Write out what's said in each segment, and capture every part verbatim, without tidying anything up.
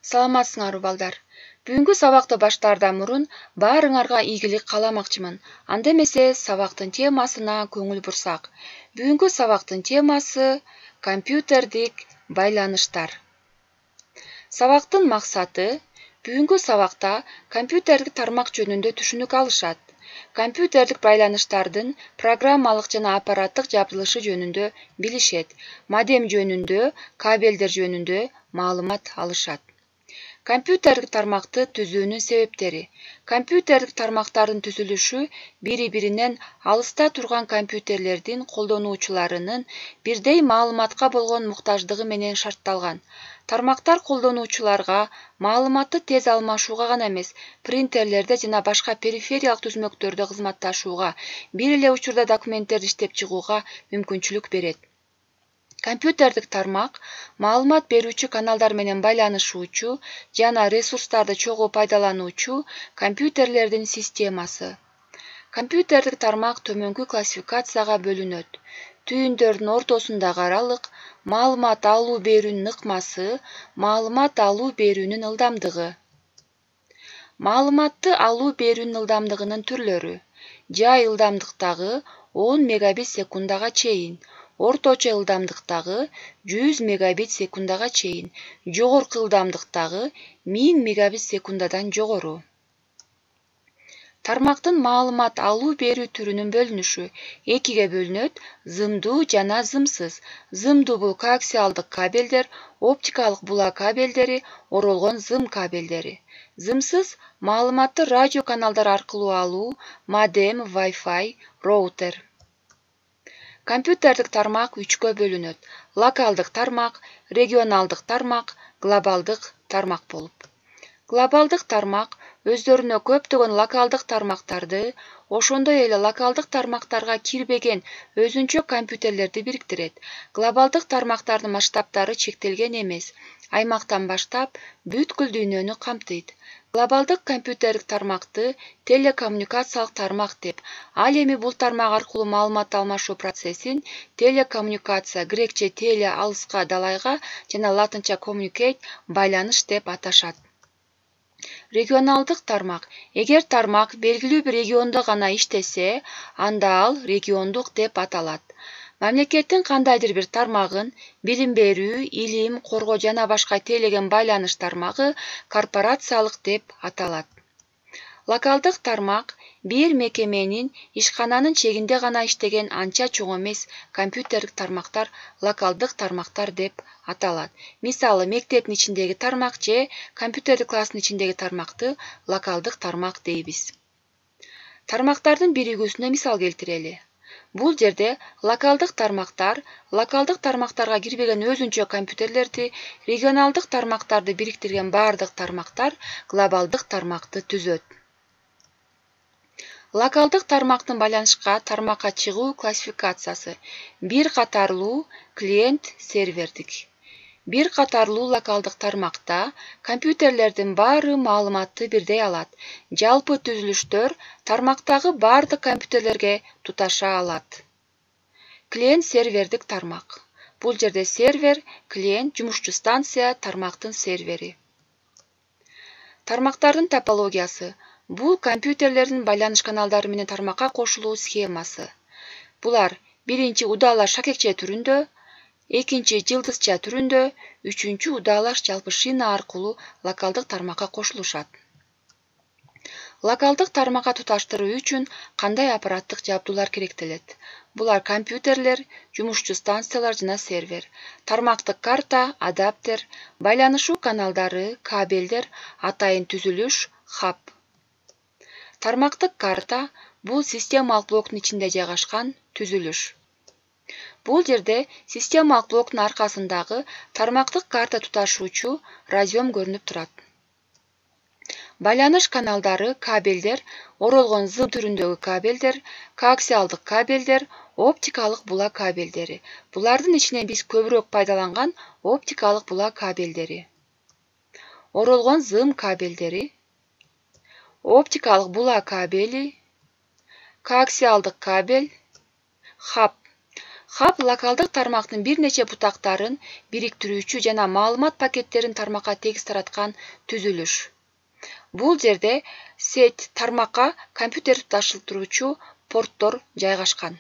Саламатсыңарбы балдар? Бүгүнкү сабакты баштаардан мурун баарыңарга ийгилик кааламакчымын. Анда эмесе сабактын темасына көңүл бурсак. Бүгүнкү сабактын темасы компьютердик байланыштар. Сабактын максаты бүгүнкү сабакта компьютердик тармак жөнүндө түшүнүк алышат. Компьютердик байланыштардын программалык жана аппараттык жабдылышы жөнүндө билишет. Модем жөнүндө, кабелдер жөнүндө маалымат алышат. Компьютердик тармакты түзүүнүн себептери. Компьютердик тармактардын түзүлүшү бири-биринен алыста турган компьютерлердин колдонуучуларынын бирдей маалыматка болгон муктаждыгы менен шартталган. Тармактар колдонуучуларга маалыматты тез алмашууга гана эмес, принтерлерде жана башка перифериялык түзмөктөрдө кызматташууга, бир эле учурда документтерди иштеп чыгууга мүмкүнчүлүк берет. Компьютердик тармак маалымат берүүчү каналдар менен байланышуучу жана ресурстарды чогуу пайдалануучу компьютерлердин системасы. Компьютердик тармак төмөнкү классификацияга бөлүнөт. Түйүндөрдүн ортосундагы аралык, маалымат алуу берүүнүн ыкмасы, маалымат алуу берүүнүн ылдамдыгы. Маалыматты алуу берүүнүн ылдамдыгынын түрлөрү. Жай ылдамдыктагы он мегабит секундага чейин, орточо ылдамдыктагы жүз мегабит секундага чейин, жогорку ылдамдыктагы миң мегабит секундадан жогору. Тармактын маалымат алуу берүү түрүнүн бөлүнүшү экиге бөлүнөт: зымдуу жана зымсыз. Зымдуу бул коаксиалдык кабелдер, оптикалык булак кабелдери, оролгон зым кабелдери. Зымсыз маалыматты радио каналдар аркылуу алуу, модем, Wi-Fi, роутер. Компьютердик тармак үчкө бөлүнөт: локалдык тармак, регионалдык тармак, глобалдык тармак болуп. Глобалдык тармак өздөрүнө көптөгөн локалдык тармактарды, ошондой эле локалдык тармактарга кирбеген өзүнчө компьютерлерди бириктирет. Глобалдык тармактардын масштабтары чектелген эмес, аймактан баштап бүткүл дүйнөнү камтыйт. Глобалдык компьютердик тармакты телекоммуникациялык тармак деп, ал эми бул тармак аркылуу маалымат алмашуу процессин телекоммуникация, грекче теле алыска далайга жана латынча communicate байланыш деп аташат. Регионалдык тармак. Эгер тармак белгилүү бир региондо гана иштесе, анда ал региондук деп аталат. Мамлекеттин кандайдыр бир тармагын билим берүү, илим, коргоо жана башка тейлеген байланыш тармагы корпорациялык деп аталат. Локалдык тармак бир мекеменин ишкананын чегинде гана иштеген анча чоң эмес компьютердик тармактар локалдык тармактар деп аталат. Мисалы, мектептин ичиндеги тармак же компьютердик класстын ичиндеги тармакты локалдык тармак дейбиз. Тармактардын биригүүсүнө мисал келтирели. Бул жерде локалдык тармактар локалдык тармактарга кирбеген өзүнчө компьютерлерди, регионалдык тармактарды бириктирген бардык тармактар глобалдык тармакты түзөт. Локалдык тармактын байланышка тармакка чыгуу классификациясы. Бир катарлуу клиент сервердик. Бир катарлуу локалдык тармакта компьютерлердин баары маалыматты бирдей алат. Жалпы түзүлүштөр тармактагы бардык компьютерлерге туташа алат. Клиент сервердик тармак. Бул жерде сервер, клиент, жумушчу станция, тармактын сервери. Тармактардын топологиясы. Бул компьютерлердин байланыш каналдары менен тармакка кошулуу схемасы. Булар биринчи удаалаш шакекче түрүндө, экинчи жылдызча түрүндө, үчүнчү удаалаш жалпы шина аркылуу локалдык тармакка кошулушат. Локалдык тармакка туташтыруу үчүн кандай аппараттык жабдуулар керектелет? Булар компьютерлер, жумушчу станциялар жана сервер, тармактык карта, адаптер, байланышуу каналдары, кабелдер, атайын түзүлүш, хаб. Тармактык карта бул системалык блоктун ичинде жайгашкан түзүлүш. Бул жерде системалык блоктун аркасындагы тармактык карта туташуучу разъем көрүнүп турат. Байланыш каналдары, кабелдер, оролгон зым түрүндөгү кабелдер, коаксиалдык кабелдер, оптикалык булак кабелдери. Булардын ичинен биз көбүрөөк пайдаланган оптикалык булак кабелдери. Оролгон зым кабелдери, оптикалык булак кабели, коаксиалдык кабель, хаб. Хаб локалдык тармактын бир нече бутактарын бириктирүүчү жана маалымат пакеттерин тармакка тегиз тараткан түзүлүш. Бул жерде сеть тармакка компьютер туташтыруучу порттор жайгашкан.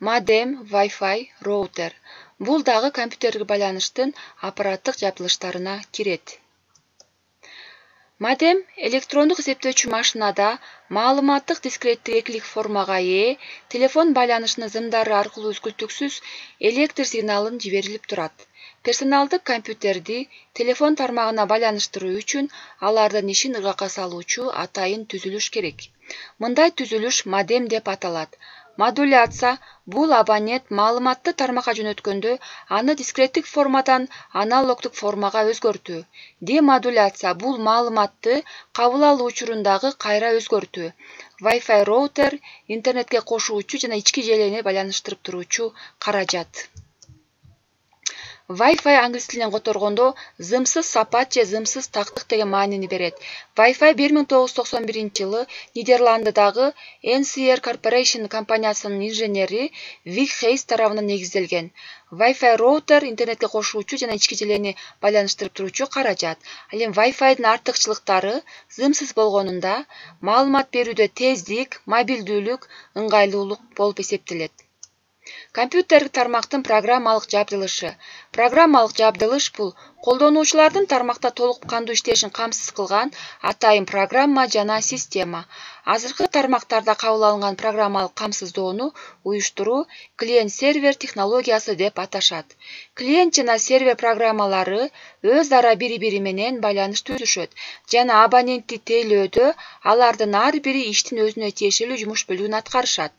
Модем, Wi-Fi, роутер. Бул дагы компьютерге байланыштын аппараттык жабдылыштарына кирет. Модем электрондук эсептөөчү машинада маалыматтык дискреттик экилик формага ээ, телефон байланышынын зымдары аркылуу үзгүлтүксүз электр сигналын жиберилип турат. Персоналдык компьютерди телефон тармагына байланыштыруу үчүн алардын ишин ыргакка салуучу атайын түзүлүш керек. Мындай түзүлүш модем деп аталат. Модуляция бул абонент маалыматты тармакка жөнөткөндө аны дискреттик формадан аналогдук формага өзгөртүү. Демодуляция бул маалыматты кабыл алуу учурундагы кайра өзгөртүү. Wi-Fi роутер интернетке кошуучу жана ички желени байланыштырып туруучу каражат. Wi-Fi англис тилинен которгондо зымсыз сапат же зымсыз тактык деген маанини берет. Wi-Fi бир миң тогуз жүз токсон биринчи жылы Нидерландыдагы эн си эр Corporation компаниясынын инженери Вик Хейс тарабынан негизделген. Wi-Fi роутер интернетке кошуучу жана ички желени байланыштырып туруучу каражат. Ал эми Wi-Fi'дин артыкчылыктары зымсыз болгонунда маалымат берүүдө тездик, мобилдүүлүк, ыңгайлуулук болуп эсептелет. Компьютерлик тармактын программалык жабдылышы. Программалык жабдылыш бул колдонуучулардын тармакта толук кандуу иштешин камсыз кылган атайын программа жана система. Азыркы тармактарда кабыл алынган программалык камсыздоону уюштуруу клиент-сервер технологиясы деп аташат. Клиент жана сервер программалары өз ара бири-бири менен байланыш түзүшөт жана абонентти тейлөөдө алардын ар бири иштин өзүнө тиешелүү жумуш бөлүгүн аткарышат.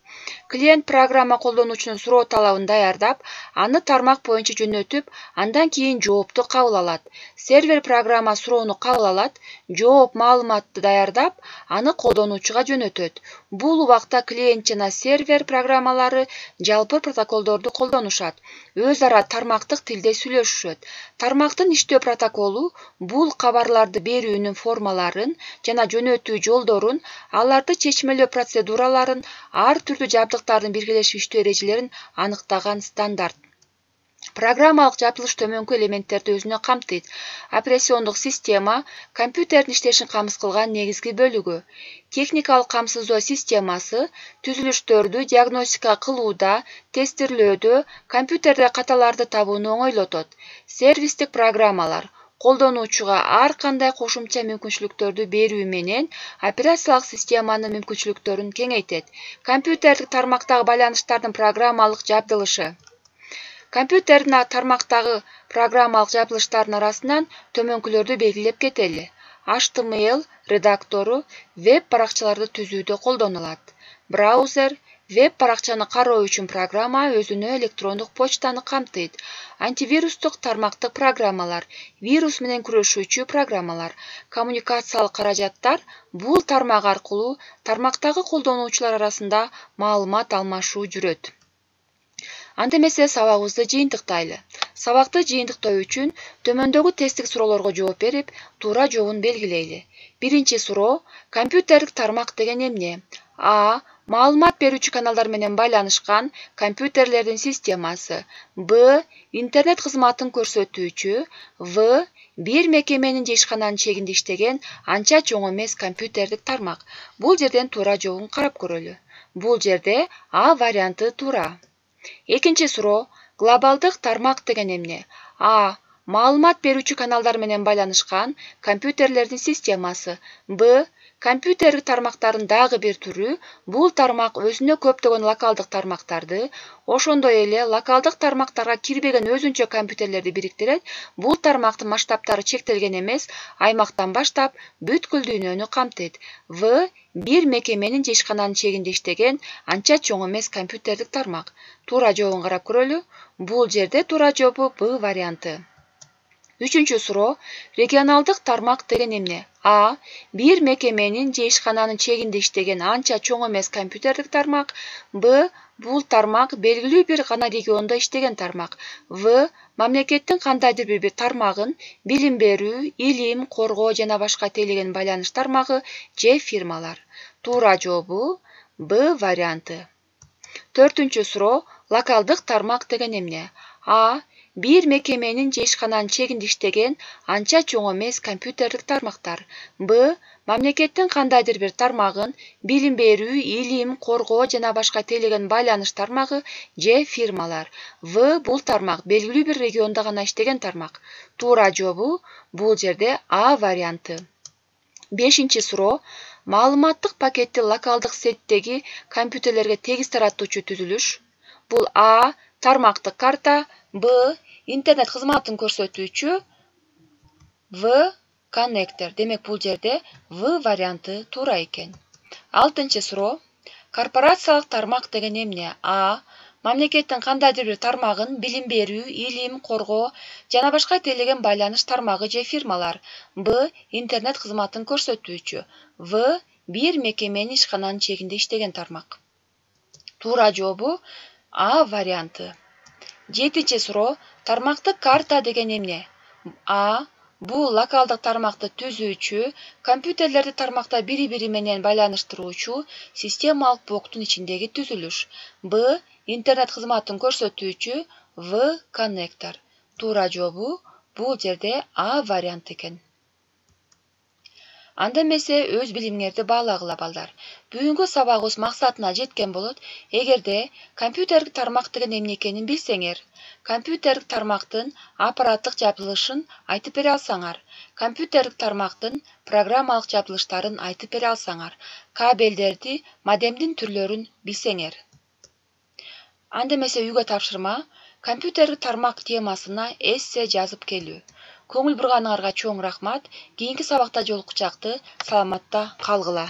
Клиент программа колдонуучунун суроо талабын даярдап, аны тармак боюнча жөнөтүп, андан кийин жоопту кабыл алат. Сервер программа суроону кабыл алат, жооп маалыматты даярдап, аны колдонуучуга жөнөтөт. Бул убакта клиент жана сервер программалары жалпы протоколдорду колдонушат, өз ара тармактык тилде сүйлөшүшөт. Тармактын иштөө протоколу бул кабарларды берүүнүн формаларын жана жөнөтүү жолдорун, аларды чечмелөө процедураларын, ар түрдүү жабдыктардын биргелешип иштөө эрежелерин аныктаган стандарт. Программалык жабдылыш төмөнкү элементтерди өзүнө камтыйт. Операциондук система компьютердин иштешин камсыз кылган негизги бөлүгү. Техникалык камсыздоо системасы түзүлүштөрдү диагностика кылууда, тестирлөөдө, компьютерде каталарды табууну оңойлотот. Сервистик программалар колдонуучуга ар кандай кошумча мүмкүнчүлүктөрдү берүү менен операциялык системанын мүмкүнчүлүктөрүн кеңейтет. Компьютерлик тармактагы байланыштардын программалык жабдылышы. Компьютердин тармактагы программалык жабдылыштардын арасынан төмөнкүлөрдү белгилеп кетели. эйч ти эм эл редактору веб баракчаларды түзүүдө колдонулат. Браузер веб баракчаны кароо үчүн программа өзүнө электрондук почтаны камтыйт. Антивирустук тармактык программалар, вирус менен күрөшүүчү программалар, коммуникациялык каражаттар бул тармак аркылуу тармактагы колдонуучулар арасында маалымат алмашуу жүрөт. Анда эмесе сабагыбызды жыйынтыктайлы. Сабакты жыйынтыктоо үчүн төмөндөгү тесттик суроолорго жооп берип, туура жообун белгилейли. Биринчи суроо: компьютерлик тармак деген эмне? А. Маалымат берүүчү каналдар менен байланышкан компьютерлердин системасы. Б. Интернет кызматын көрсөтүүчү. В. Бир мекеменин же ишкананын чегинде иштеген анча чоң эмес компьютерлик тармак. Бул жерден туура жообун карап көрөлү. Бул жерде А варианты туура. Экинчи суроо: глобалдык тармак деген эмне? А. Маалымат берүүчү каналдар менен байланышкан компьютерлердин системасы. Б. Компьютерлик тармактардын дагы бир түрү. Бул тармак өзүнө көптөгөн локалдык тармактарды, ошондой эле локалдык тармактарга кирбеген өзүнчө компьютерлерди бириктирет. Бул тармактын масштабтары чектелген эмес, аймактан баштап бүткүл дүйнөнү камтыйт. В. Бир мекеменин же ишкананын чегинде иштеген анча чоң эмес компьютерлик тармак. Туура жообун карап көрөлү. Бул жерде туура жообу Б варианты. Үчүнчү суроо: регионалдык тармак деген эмне? А. Бир мекеменин же ишкананын чегинде иштеген анча чоң эмес компьютерлик тармак. Б. Бул тармак белгилүү бир гана региондо иштеген тармак. В. Мамлекеттин кандайдыр бир тармагын билим берүү, илим, коргоо жана башка тейлеген байланыш тармагы же фирмалар. Туура жообу Б варианты. Төртүнчү суроо. Локалдык тармак деген эмне? А. Бир мекеменин же ишкананын чегинде иштеген анча чоң эмес компьютерлик тармактар. Б. Мамлекеттин кандайдыр бир тармагын, билим берүү, илим, коргоо жана башка тейлеген байланыш тармагы же фирмалар. В. Бул тармак белгилүү бир региондо гана иштеген тармак. Туура жообу бул жерде А варианты. Бешинчи суроо. Маалыматтык пакетти локалдык сеттеги компьютерлерге тегиз таратуучу түзүлүш. Бул А. Тармактык карта. Б. Интернет кызматын көрсөтүүчү. В. Коннектор. Демек бул жерде В варианты туура экен. Алтынчы суроо. Корпорациялык тармак деген эмне? А. Мамлекеттин кандайдыр бир тармагын, билим берүү, илим, коргоо жана башка тейлеген байланыш тармагы же фирмалар. Б. Интернет кызматын көрсөтүүчү. В. Бир мекеменин ишкананын чегинде иштеген тармак. Туура жообу А варианты. Жетинчи суроо. Тармактык карта деген эмне? А. Бул локалдык тармакты түзүүчү, компьютерлерди тармакта бири-бири менен байланыштыруучу системалык блоктун ичиндеги түзүлүш. Б. Интернет кызматын көрсөтүүчү. В. Коннектор. Туура жообу бул жерде А варианты экен. Анда эмесе өз билимиңерди баалагыла балдар. Бүгүнкү сабагыбыз максатына жеткен болот. Эгерде компьютерлик тармак деген эмне экенин билсеңер, компьютерлик тармактын аппараттык жабылышын айтып бере алсаңар, компьютерлик тармактын программалык жабылыштарын айтып бере алсаңар, кабелдерди, модемдин түрлөрүн билсеңер. Анда эмесе үйгө тапшырма, компьютерлик тармак темасына эссе жазып келүү. Көңүл бурганыңарга чоң рахмат. Кийинки сабакта жолукчакты саламатта калгыла.